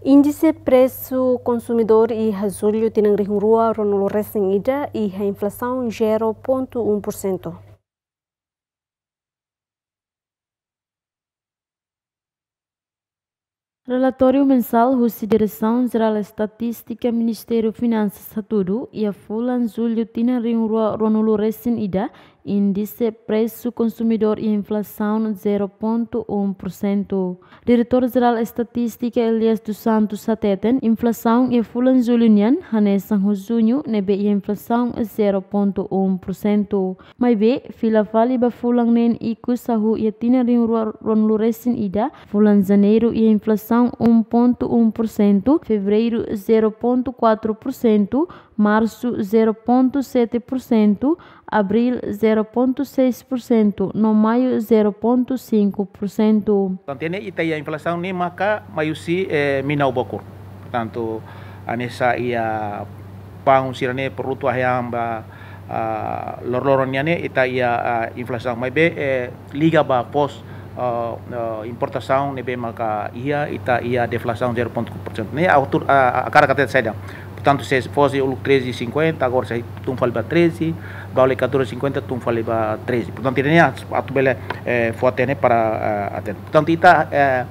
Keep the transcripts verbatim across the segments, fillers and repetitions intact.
Índise presu konsumidór iha jullu tinan rihun rua ruanulu resin ida iha inflasaun zero ponto um por cento. Relatóriu mensál husi Diresaun Jerál Estatístika, Ministériu Finansas hatudu, iha fulan jullu tinan rihun rua ruanulu resin ida, índise presu konsumidór iha inflasaun zero ponto um por cento. Diretór Jerál Estatístika Elias dos Santos hateten, inflasaun iha fulan jullu nian hanesan ho juñu ne'ebé iha inflasaun zero ponto um por cento. Maibé, fila fali ba fulan neen ikus hahú iha tinan rihun rua ruanulu resin ida, fulan janeiru iha inflasaun um ponto um por cento, fevereiru zero ponto quatro por cento, marsu zero ponto sete por cento, abríl zero ponto seis por cento, no maiu zero ponto cinco por cento. Portantu, ne'e ita iha inflasaun ne'e maka mai husi, eh, mina ou bokor. Portantu, hanesan iha paun sira-ne'e, produtu ahi-an ba, ah, loroloron nian ne'e ita iha, ah, inflasaun. Maibé, eh, liga ba foos, ah, ah, importasaun ne'ebé maka iha, ita iha deflasaun zero ponto cinco por cento. Ne'e ha'u hakarak hateten saida. Portantu, se foos uluk treze e cinquenta, agora sei tun fali ba treze, ba uluk catorze e cinquenta, tun fali ba treze. Portantu, ida-ne'e atu bele, eh, fó hatene para, ah, hatene. Portantu, ita, eh,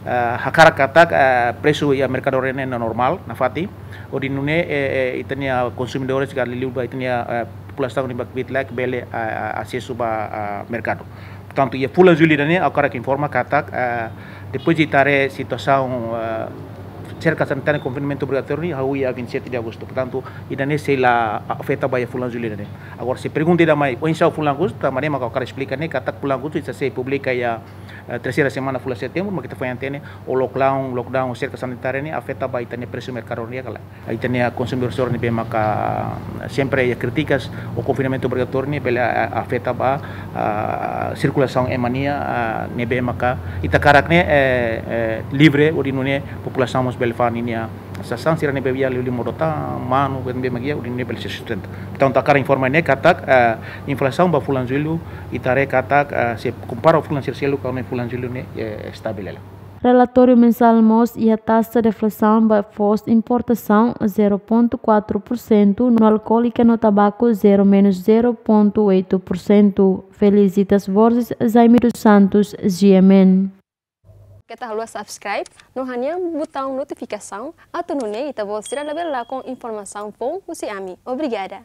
eh, hakarak katak, eh, presu iha merkadu ne'e normál, nafatin. Hodi nune'e, eh, eh, ita-nia konsumidores ka liuliu ba ita-nia, eh, populasaun ne'ebé kbiit-laek bele, eh, eh, asesu ba, eh, merkadu. Portantu, iha fulan jullu ida-ne'e, ha'u hakarak informa katak, eh, depois de ita haree situasaun, eh, serka sanitária konfinamentu obrigatóriu ne'e hahú iha vinte e sete de agosto. Portantu, ida-ne'e sei la afeta ba iha fulan jullu ida-ne'e. Agora, se pergunta ida mai, oinsá fulan agostu, tanba ne'e maka ha'u hakarak esplika ne'e, katak fulan agostu ita sei publika iha, eh, terseira semana fulan setembru, maka ita foin hatene, o lockdown, lockdown, serka sanitária ne'e afeta ba ita-nia presu merkadu ne'e ka lae. Ita-nia konsumidór sira ne'ebé maka sempre iha krítikas, o konfinamentu obrigatóriu ne'e bele, ah, afeta ba, ah, sirkulasaun ema nian, ah, ne'ebé maka ita hakarak ne'e, eh, eh, livre, hodi nune'e populasaun mós bele fa'an ninia sasán sira ne'ebé iha liuliu modo-tahan, manu, ne'ebé maka iha, hodi nune'e bele sei sustenta. Portantu, hakarak informa ne'e katak, eh, inflasaun ba fulan jullu, ita haree katak, eh, se kompara fulan sira seluk, ka ne'e fulan jullu ne'e, eh, estabil hela. Relatóriu mensál mós iha taxa deflasaun ba foos importasaun zero ponto quatro por cento, no alkoólika no tabaku zero menos zero ponto oito por cento. Felicitas Borges, Jaime dos Santos, G M N. Keta haluha subscribe, no hanehan butaun notifikasaun, atu nune'e ita-boot sira labele lakon informasaun foun husi ami. Obrigada.